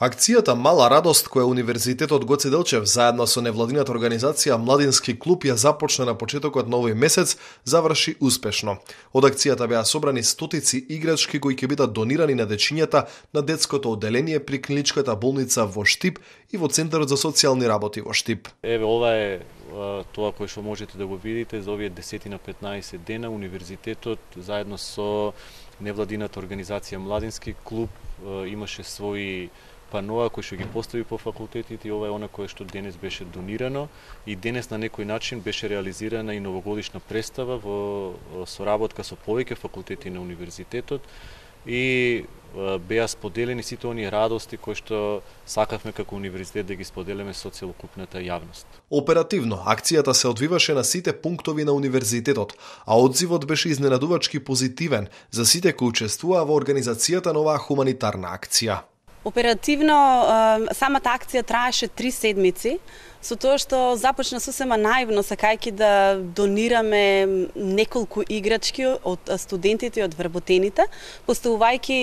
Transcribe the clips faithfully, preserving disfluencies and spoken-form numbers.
Акцијата Мала радост која Универзитетот Гоце Делчев заедно со невладината организација Младински клуб ја започна на почетокот на овој месец, заврши успешно. Од акцијата беа собрани стотици играчки кои ќе бидат донирани на дечињата на детското одделение при клиничката болница во Штип и во Центарот за социјални работи во Штип. Еве ова е тоа кој што можете да го видите за овие десет на петнаесет дена. Универзитетот заедно со невладината организација Младински клуб имаше своји паноа кои што ги постави по факултетите и ова е она кое што денес беше донирано и денес на некој начин беше реализирана и новогодишна представа во соработка со повеќе факултети на универзитетот и беа споделени сите оние радости кои што сакавме како универзитет да ги споделиме со целокупната јавност. Оперативно, акцијата се одвиваше на сите пунктови на универзитетот, а одзивот беше изненадувачки позитивен за сите кои учествуваа во организацијата на оваа хуманитарна акција. Оперативно, самата акција траеше три седмици, со тоа што започна сосема наивно, сакајќи да донираме неколку играчки од студентите и од вработените, поставувајќи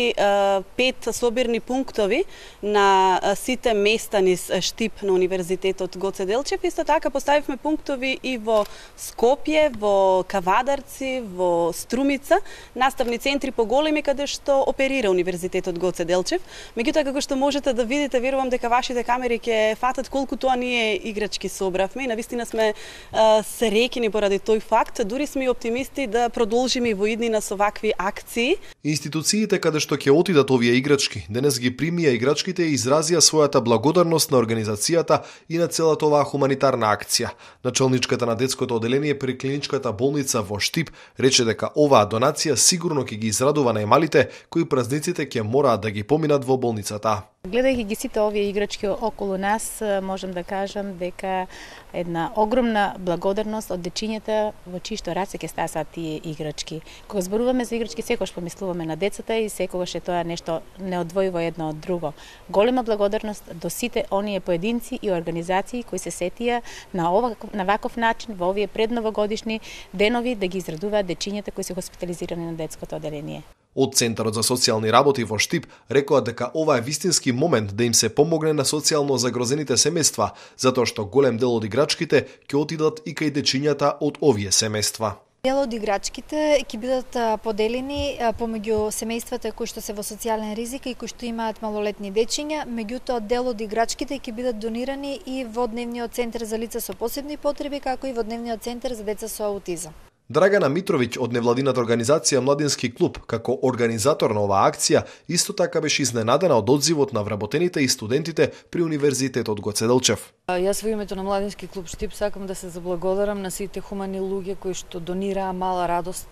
пет собирни пунктови на сите места низ Штип на Универзитетот Гоце Делчев. Исто така поставивме пунктови и во Скопје, во Кавадарци, во Струмица, наставни центри поголеми каде што оперира Универзитетот Гоце Делчев. Меѓутоа, како што можете да видите, верувам дека вашите камери ќе фатат колку тоа ние играчки собравме и навистина сме а, среќни поради тој факт. Дури сме и оптимисти да продолжиме во иднина со вакви акции. Институциите каде што ќе отидат овие играчки, денес ги примија играчките и изразија својата благодарност на организацијата и на целата оваа хуманитарна акција. Началничката на детското одделение при клиничката болница во Штип рече дека оваа донација сигурно ќе ги израдува најмалите кои празниците ќе мораат да ги поминат во болницата. Гледајќи ги сите овие играчки околу нас, можам да кажам дека една огромна благодарност од дечињата во чии што раце ќе стасаат тие играчки. Кога зборуваме за играчки, секогаш помислуваме на децата и секогаш е тоа нешто неодвојиво едно од друго. Голема благодарност до сите оние поединци и организации кои се сетија на оваков на ваков начин во овие предновогодишни денови да ги израдуваат дечињата кои се хоспитализирани на детското одделение. Од Центарот за социјални работи во Штип рекоа дека ова е вистински момент да им се помогне на социјално загрозените семејства, затоа што голем дел од играчките ќе отидат и кај дечињата од овие семејства. Дел од играчките ќе бидат поделени помеѓу семејствата кои што се во социјален ризик и кои што имаат малолетни дечиња, меѓутоа дел од играчките ќе бидат донирани и во Дневниот центар за лица со посебни потреби, како и во Дневниот центар за деца со аутизам. Драгана Митровиќ од невладината организација Младински клуб, како организатор на оваа акција, исто така беше изненадена од одзивот на вработените и студентите при Универзитетот Гоце Делчев. Јас во името на Младински клуб Штип сакам да се заблагодарам на сите хумани луѓе кои што донираа мала радост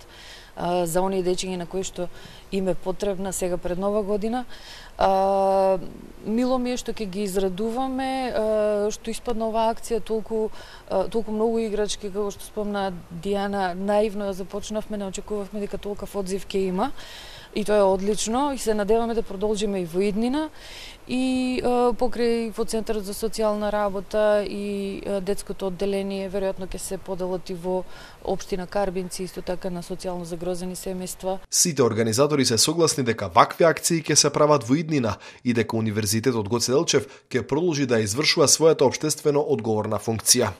за оние дечиња на кои што им е потребна сега пред Нова година. А, мило ми е што ќе ги израдуваме, а, што испадна оваа акција толку, а, толку многу играчки, како што спомна Дијана, наивно ја започнавме, не очекувавме дека толков одзив ќе има. И тоа е одлично и се надеваме да продолжиме и во иднина и а, покрај во Центарот за социјална работа и а, детското одделение веројатно ќе се поделат и во општина Карбинци, исто така на социјално загрозени семејства. Сите организатори се согласни дека вакви акции ќе се прават во иднина и дека Универзитетот Гоце Делчев ќе продолжи да извршува својата општествено одговорна функција.